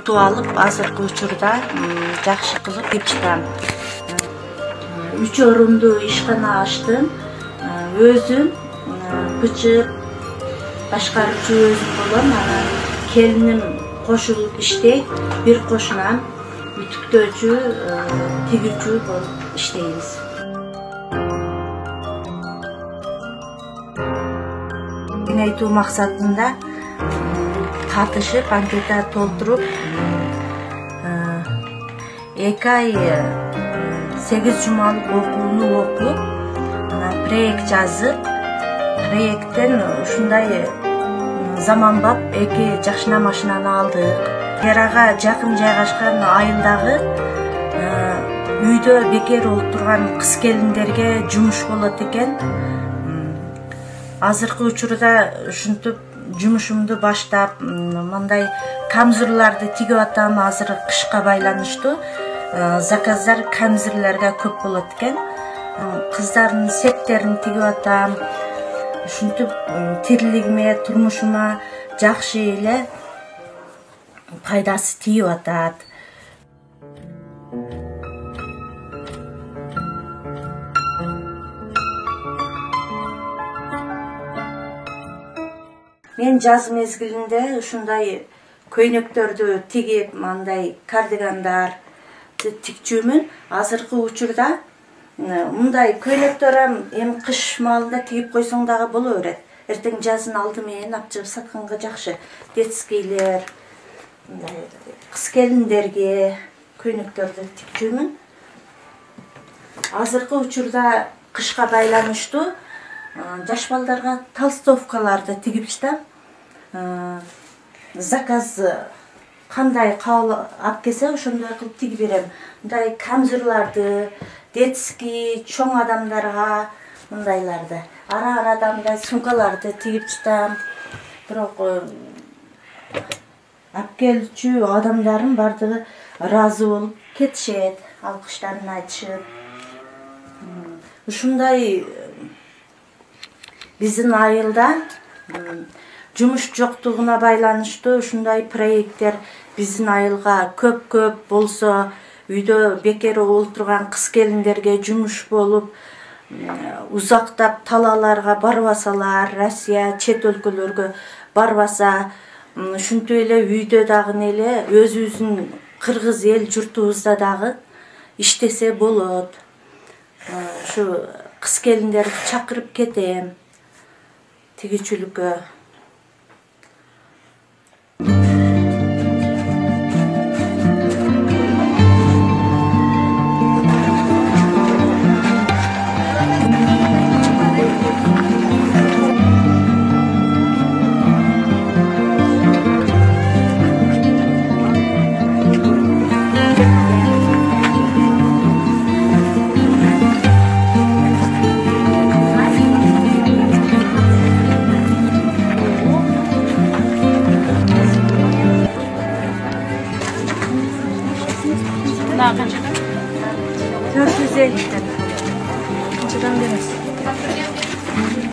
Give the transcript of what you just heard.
утуп алып, азыркы учурда жакшы кылып тигичтам. 3 орунду ишкана ачтым. Өзүм бычык башкаруучу өзүм болом. Анан келиним кошулуп иштейт. Бир кошунам үтүктөөчү, тигүүчү болуп иштейбиз. Кеңейтүү максатында катышып, анкета толтуруп, 2 ай 8 жумалык окууну окуп, проект жазып, проекттен ушундай заманбап 2 жакшына машинаны алдык. Терага жакын жайгашкан айылдагы үйдө бекер отурган кыз келиндерге жумуш болот экен. Азыркы учурда ушинтип жумушумду баштап, мындай камзырларды тигип атам. Азыр кышка байланыштуу заказдар камзырларга көп болот экен. Кыздардын сеттерин тигип атам. Ушинтип тирилигиме, турмушума жакшы эле пайдасы тийип атат. Мен жаз мезгилинде ушундай көйнөктөрдү тигип, мындай кардигандар тикчүмүн. Азыркы учурда мындай көйнөктөр эми кыш маалында тигип койсоң дагы боло берет. Эртең жазын алды менен алып чыгып сатканга жакшы. Детскийлер, мындай кыз келиндерге көйнөктөрдү тикчүмүн. Азыркы учурда кышка байланыштуу жаш балдарга толстовкаларды тигип чыгам. Заказ кандай кабыл алып келсе, ошондой кылып тигип берем. Мындай камзырларды, детский, чоң адамдарга мындайларды, ара-арада мындай сумкаларды тигип чыгам. Бирок алып келүүчү адамдардын бардыгы ыраазы болуп кетишет, алкыштарын айтышып. Ушундай биздин айылда жумуш жоктугуна байланыштуу ушундай проекттер биздин айылга көп болсо, үйдө бекер отурган кыз келиндерге жумуш болуп, узактап талааларга барбасалар, Россия, чет өлкөлөргө барбаса, ушинтип эле үйдө дагы эле өзүбүздүн кыргыз эл журтубузда дагы иштесе болот. Ушу кыз келиндерди чакырып кетем тигичүлүккө. Канчадан? 450 Канчадан бересиз?